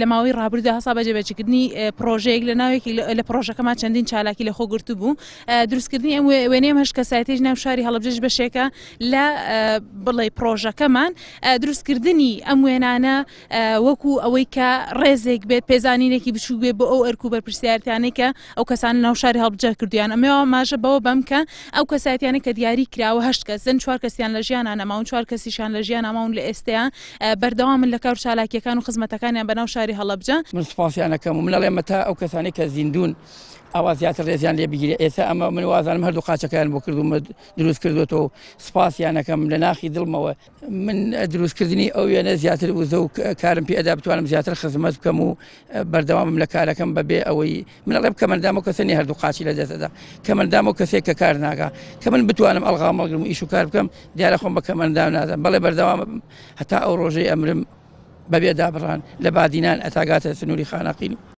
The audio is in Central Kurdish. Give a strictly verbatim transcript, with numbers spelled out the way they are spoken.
لە ماوەی ڕابردوودا هەستا بە جێبەجێکردنی پرۆژەیەک لە ناوێکی لە پرۆژەکەمان چەندین چالاکی لە خۆ گرتو بوو. دروستکردنی ئەم وێنەیە هەشت کەسایەتیش ناو شاری هەڵەبجەش بەشێکە لە بڵێ پرۆژەکەمان. دروستکردنی ئەم وێنانە وەکو ئەوەی کە ڕێزێک بێت، پێزانینێکی بچوو بێت بۆ ئەو ئەرک و بەرپرسیارەتیانەی کە ئەو کەسانە ناو شاری هەڵەبجە کردویان. ئەمەوە ماژە بەوە بەم کە ئەو کەسایەتیانە کە دیاری کراوە هەشت کەسن، چوار کەسیان لە ژیانە نەماون، چوار کەسیشیان لە ژیان نەماون لە ئێستەیە بەردەوامن لە کار و چالاکیەکان و خزمەتەکانیان بەناو شاری هەڵەبجە. من سوپاسیانەکەم و من ئەڵێم تا ئەو کەسانەی کە زیندوون ئەوە زیاتر ڕێزیان لێ بگیرێ. ئێستا ئەمە من وازانم هەردوو قاچەکەیان بۆ کردوومە دروست کردوێتەوە و سوپاسیانەکەم لە ناخی دڵمەوە. من دروستکردنی ئەو وێنە زیاتر وزە و کارم پێ ئەدا بتوانم زیاتر خزمەت بکەم و بەردەوامم لە کارەکەم بەبێ ئەوەی من ئەڵێم کەمەندام و کەسە نیە هەردوو قاچی لە دەستەدا، کەمەندام و کەسێک کە کار ناکا کە من بتوانم ئەڵغام هەڵگرم و ئیش و کار بکەم، دیارە خۆم بە کەمەندام نادەم. بەڵێ بەردەوامم هەتا ئەو ڕۆژەی ئەمرم بەبێ دابڕان لە بادینان ئەتاگاتە سنووری خانەقین.